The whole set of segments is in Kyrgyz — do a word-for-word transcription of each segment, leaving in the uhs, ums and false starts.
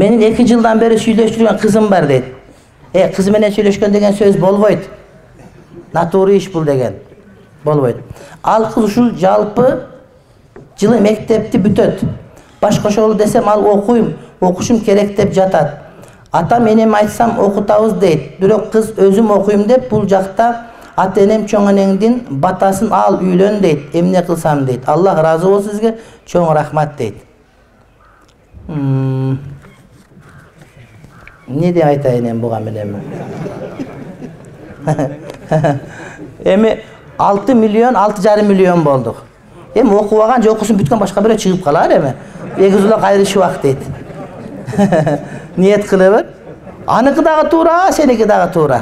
Менин эки жылдан бeri сүйлөшүп жүргөн кызым бар дейт. Э, кыз менен сүйлөшкөн деген сөз болбойт. Натурий иш бул деген. Болбойт. Ал кыз ушул жалпы жылы мектепти бүтөт. Баш кошолу десем ал окуйм, окушум керек деп жатат. Ата менем айтсам окутабыз дейт. Бирок кыз өзүм окуйм деп бул жакта ата энем чоң энеңдин батасын ал үйлөн дейт. Эмне кылсам дейт. Аллах ыраазы болсун сизге, чоң рахмат дейт. Не деп айтайын эми буга менен? Эми алты миллион, алты жарым миллион болдук. Эми окубаган же окусун бүткөн башка бирөө чыгып калар эми. Эгизулак айрышыбак дейт. Ниет кылып, аныкы дагы туура, сеники дагы туура.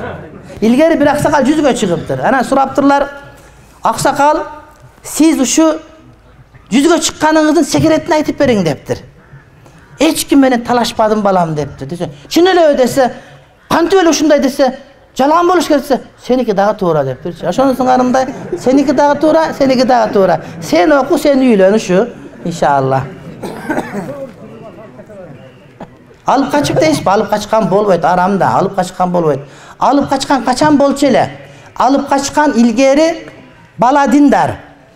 Илгери бир аксакал жүзгө чыгыптыр. Анан сураптырлар, аксакал, сиз ушу жүзгө чыкканыңыздын секретин айтып бериң дептир. Эч ким менен талашпадым балам дептир. Десе, чын эле десе, кантип эле ушундай десе, жалган болуш керек десе, сеники дагы туура дептир. Ошонусун карымдай, сеники дагы туура, сеники дагы туура. Сен оку, сен үйлөн ушу, иншалла. Алып качып дейсизби? Алып качкан болбойт, арам да, алып качкан болбойт. Алып качкан качан болчу эле? Алып качкан илгери бала диндар,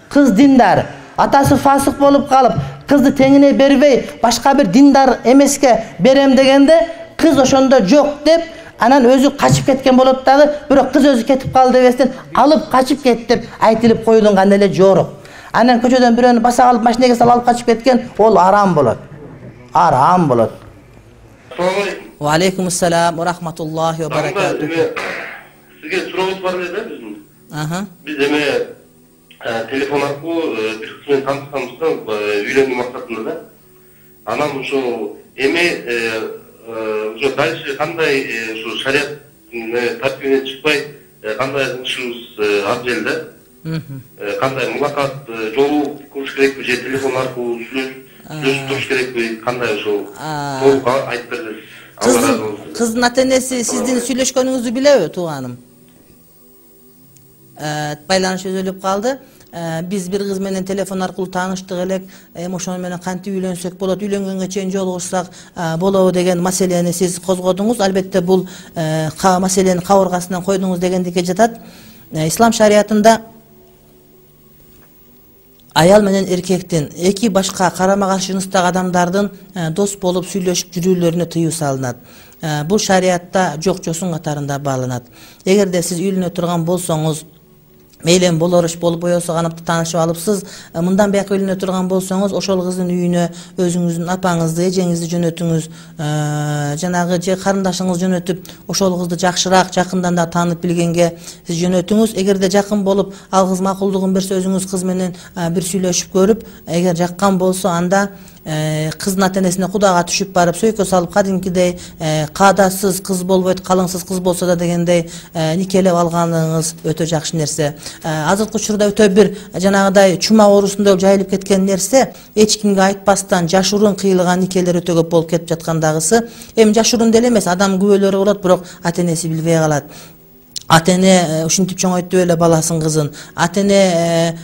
кыз диндар. Атасы фасык болуп калып, кызды теңине бербей, башка бир диндар эмеске берем дегенде, кыз ошондо жок деп, анан өзү качып кеткен болот дагы, бирок кыз өзү кетип калды дебестен, алып качып кет деп айтылып коюлган эле жорук. Анан көчөдөн бирөөнү баса алып машинеге салып алып качып кеткен, ол арам болот. Арам болот. Ва алейкум ассалам ва рахматуллахи ва баракатух. Сизге сурообуз бар эле да биздин. Аха. Биз эме телефон аркылуу бир кыз менен таанышканбыз да, үйлөнүү максатында да. Анан ошо эми ошо дальше кандай ушу шарият тартибинен чыкпай кандай кылышыбыз абзел да. Кандай мулакат жолу кылыш керекпи же телефон аркылуу сүйлөшүп туруш керекпи, кандай ошол толук айтып берсеңиз. Кыздын ата энеси сиздин сүйлөшкөнүңүздү билеби, тууганым? Байланыш өзөлүп калды. Биз бир кыз менен телефон аркылуу тааныштык элек, эми ошону менен кантип үйлөнсөк болот, үйлөнгөнгө чейин жолугушсак болобу деген маселени сиз козгодуңуз. Албетте бул маселени кабыргасынан койдуңуз дегендикке жатат. Ислам шариятында аял менен эркектин эки башка карама-каршы жыныстагы адамдардын дос болуп сүйлөшүп жүрүүлөрүнө тыюу салынат. Бул шариятта жок жосун катарында бааланат. Эгерде сиз үйлөнө турган болсоңуз, мейлен болор иш болуп боесо канапты таанышып алыпсыз, мындан бияка үйлөнө турган болсоңуз, ошол кыздын үйүнө өзүңүздүн апаңызды, эжеңизди жөнөтүңүз, жанагы же карындашыңызды жөнөтүп, ошол кызды жакшыраак, жакындан да таанып билгенге сиз жөнөтүңүз. Эгерде жакын болуп, ал кыз макулдугун берсе, өзүңүз кыз менен бир сүйлөшүп көрүп, эгер жаккан болсо, анда кыздын ата энесине кудага түшүп барып, сөйкө салып, кадимкидей каадасыз кыз болбойт, калыңсыз кыз болсо да дегендей никелеп алганыңыз өтө жакшы нерсе. Азыркы учурда өтө бир жанагыдай чума оорусундай жайылып кеткен нерсе, эч кимге айтпастан жашыруун кыйылган никелер өтө көп болуп кетип жаткандагысы. Эми жашыруун деле эмес, адам күбөлөрү болот, бирок ата энеси билбей калат. Ата эне ушинтип чоңойтуп эле баласын, кызын. Ата эне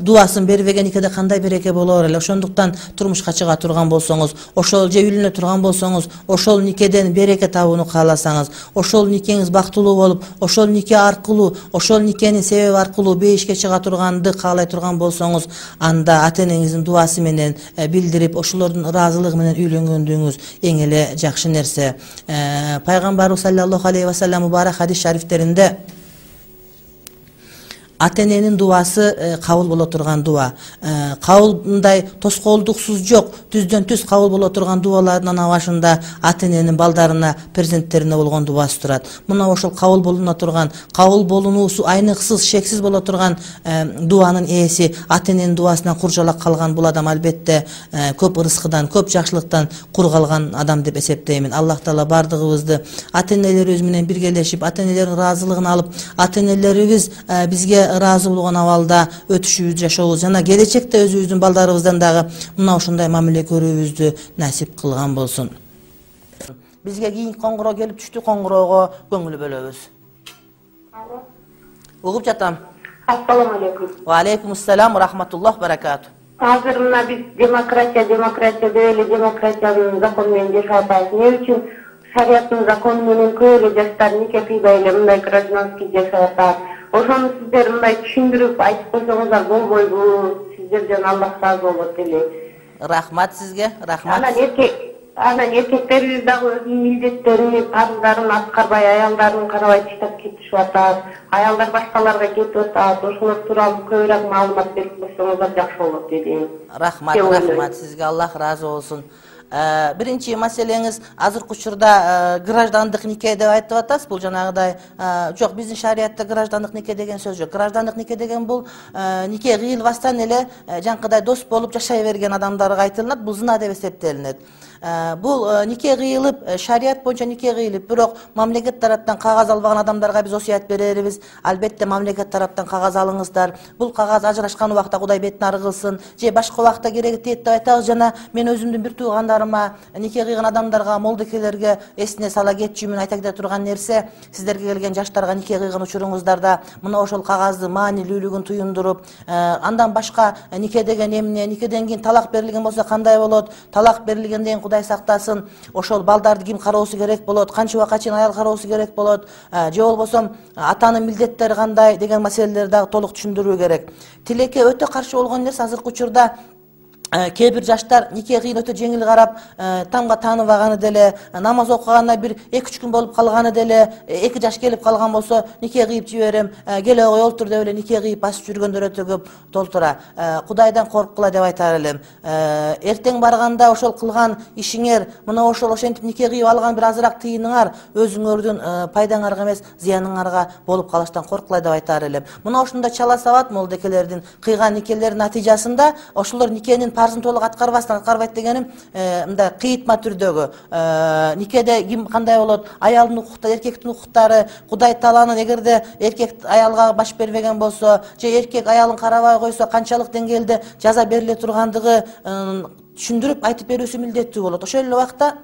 дубасын бербеген никеде кандай береке болор эле. Ошондуктан турмушка чыга турган болсоңуз, ошол же үйлөнө турган болсоңуз, ошол никеден береке табууну кааласаңыз, ошол никеңиз бактылуу болуп, ошол нике аркылуу, ошол никенин себеби аркылуу бейишке чыга турганды каалай турган болсоңуз, анда ата энеңиздин дубасы менен билдирип, ошолордун ыраазылыгы менен үйлөнгөндүгүңүз эң эле жакшы нерсе. Пайгамбарыбыз саллаллаху алейхи ва саллям мубарак хадис шарифтеринде ата эненин дубасы кабыл боло турган дуба. Кабыл мындай тоскоолдуксуз жок, түздөн түз кабыл боло турган дубалардын башында ата эненин балдарына, перзенттерине болгон дубасы турат. Мына ошол кабыл болуна турган, кабыл болуусу айныксыз, шексиз боло турган дубанын ээси ата эненин дубасынан куржалак калган бул адам албетте көп ырыскыдан, көп жакшылыктан кур калган адам деп эсептеймин. Аллах Таала бардыгыбызды ата энелерибиз менен биргелешип, ата энелердин ыраазылыгын алып, ата энелерибиз бизге ыраазы болгон абалда өтүшүбүз, жашообуз жана келечекте өзүбүздүн балдарыбыздан дагы мына ушундай мамиле көрүүбүздү насип кылган болсун. Бизге кийинки коңгуроо келип түштү, коңгуроого көңүл бөлөбүз. Угуп жатам. Ассаламу алейкум. Ва алейкум ассалам ва рахматуллах баракату. азыр мына биз демократия демократия деп эле демократиянын закону менен жашап атабыз. Эмне үчүн шариаттын закону менен көп эле жаштар нике кыйбай эле мындай гражданский жашап атат. Ошону сиздер мындай түшүндүрүп айтып койсоңуздар болбойбу? Сиздерден Аллах разы болот эле. Рахмат сизге, рахмат. Анан эркек анан эркектерибиз дагы өзүнүн милдеттерин, парыздарын аткарбай, аялдарын карабай таштап кетишип атат. Аялдар башкаларга кетип атат. Ошолор тууралуу көбүрөөк маалымат берип койсоңуздар жакшы болот дедим. Рахмат, рахмат сизге, Аллах разы болсун. Биринчи маселеңиз азыркы учурда граждандык нике деп айтып атасыз. Бул жанагыдай жок, биздин шариятта граждандык нике деген сөз жок. Граждандык нике деген бул нике кыйылбастан эле жанкыдай дос болуп жашай берген адамдарга айтылат. Бул зына деп эсептелинет. Бул нике кыйылып, шарият боюнча нике кыйылып, бирок мамлекет тараптан кагаз албаган адамдарга биз осуят берербиз. Албетте мамлекет тараптан кагаз алыңыздар. Бул кагаз ажырашкан убакта Кудай бетин ары кылсын, же башка убакта кереги тиет деп айтабыз. Жана мен өзүмдүн бир туугандарыма, нике кыйган адамдарга, молдекелерге эсине сала кетчүмүн айта кете турган нерсе, сиздерге келген жаштарга нике кыйган учуруңуздарда мына ошол кагазды маанилүүлүгүн туюндуруп, андан башка нике деген эмне, никеден кийин талак берилген болсо кандай болот, талак берилгенден Кудай сактасын, ошол балдарды ким кароосу керек болот, канча убакка чейин аял кароосу керек болот, же болбосо атанын милдеттери кандай деген маселелерди дагы толук түшүндүрүү керек. Тилекке өтө каршы болгон нерсе азыркы учурда кээ бир жаштар нике кыйын өтө жеңил карап, тамга тааныбаганы деле, намаз окуганына бир эки үч күн болуп калганы деле, эки жаш келип калган болсо нике кыйып жиберем, келе кой олтур деп эле нике кыйып басып жүргөндөр өтө көп толтура. Кудайдан корккула деп айтар элем. Эртең барганда ошол кылган ишиңер, мына ошол ошентип нике кыйып алган бир азыраак тыйыныңар өзүңөрдүн пайдаңарга эмес, зыяныңарга болуп калыштан корккула деп айтар элем. Мына ошондо чала сабат молдекелердин кыйган никелердин натыйжасында ошолор никенин парзын толук аткарбастан, аткарбайт дегеним мындай кыйытма түрдөгү никеде ким кандай болот, аялдын укуктары, эркектин укуктары, Кудай Тааланын эгерде эркек аялга баш бербеген болсо, же эркек аялын карабай койсо канчалык деңгээлде жаза бериле тургандыгы түшүндүрүп айтып берүүсү милдеттүү болот. Ошол эле убакта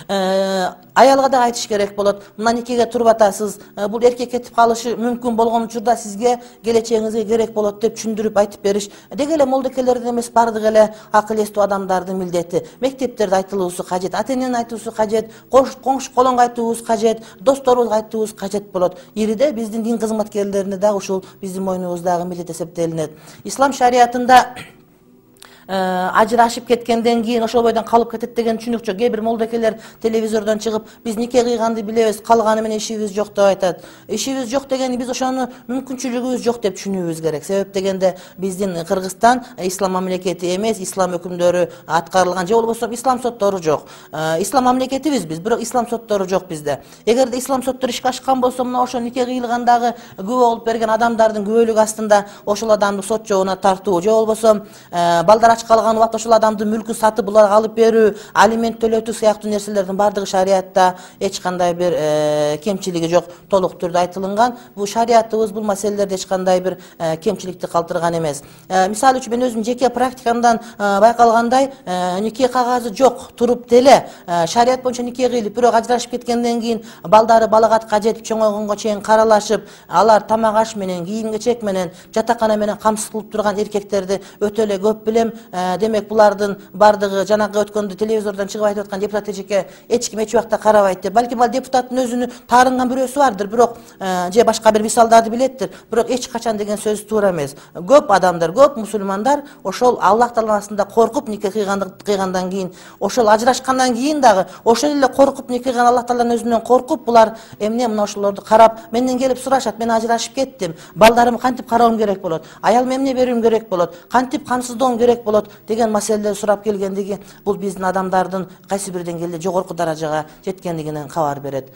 аялга да айтыш керек болот. Мына никеге туруп атасыз, бул эркек кетип калышы мүмкүн болгон учурда сизге келечегиңизге керек болот деп түшүндүрүп айтып бериш. Деги эле молдекелердин эмес, бардык эле акыл эстүү адамдардын милдети. Мектептерде айтылуусу кажет, ата-эненин айтуусу кажет, коңшу колонго айтуубуз кажет, досторубузга айтуубуз кажет болот. Ириде биздин дин кызматкерлерине дагы ушул биздин мойнубуздагы милдет эсептелинет. Ислам шариятында ажырашып кеткенден кийин ошол бойдон калып кетет деген түшүнүк жок. Кээ бир молдекелер телевизордон чыгып, биз нике кыйганды билебиз, калганы менен ишибиз жок деп айтат. Ишибиз жок дегени биз ошону мүмкүнчүлүгүбүз жок деп түшүнүүбүз керек. Себеп дегенде биздин Кыргызстан ислам мамлекети эмес, ислам өкүмдөрү аткарылган, же болбосо ислам соттору жок. Ислам мамлекетибиз биз, бирок ислам соттору жок бизде. Эгерде ислам соттору ишке ашкан болсо, мына ошо нике кыйылгандагы күбө болуп берген адамдардын күбөлүгү астында ошол адамды сот жообуна тартуу, же болбосо балдар калган убакта ошол адамдын мүлкүн сатып буларга алып берүү, алимент төлөтүү сыяктуу нерселердин бардыгы шариятта эч кандай бир кемчилиги жок, толук түрдө айтылынган. Бул шариятыбыз бул маселелерде эч кандай бир кемчиликти калтырган эмес. Мисалы үчүн мен өзүм жеке практикамдан байкалгандай, нике кагазы жок туруп деле шарият боюнча нике кыйлып, бирок ажырашып кеткенден кийин балдары балагатка жетип чоңойгонго чейин каралашып, алар тамак аш менен, кийим кечек менен, жатакана менен камсыз кылып турган эркектерди өтө эле көп билем. Демек булардын бардыгы жанагы өткөндө телевизордон чыгып айтып аткан депутат эжеке эч ким эч убакта карабайт деп. Балким ал депутаттын өзүнүн таарынган бирөөсү бардыр, бирок же башка бир мисалдарды билеттир, бирок эч качан деген сөз туура эмес. Көп адамдар, көп мусулмандар ошол Аллах Тааласында коркуп нике кыйгандан кийин, ошол ажырашкандан кийин дагы ошол эле коркуп нике кыйган Аллах Тааланын өзүнөн коркуп булар эмне мына ошолорду карап менден келип сурашат, мен ажырашып кеттим, балдарымды кантип кароом керек болот, аялыма эмне берүүм керек болот, кантип камсыздоом керек болот деген маселелер сурап келгендиги бул биздин адамдардын кайсы бир деңгээлде жогорку даражага жеткендигинен кабар берет.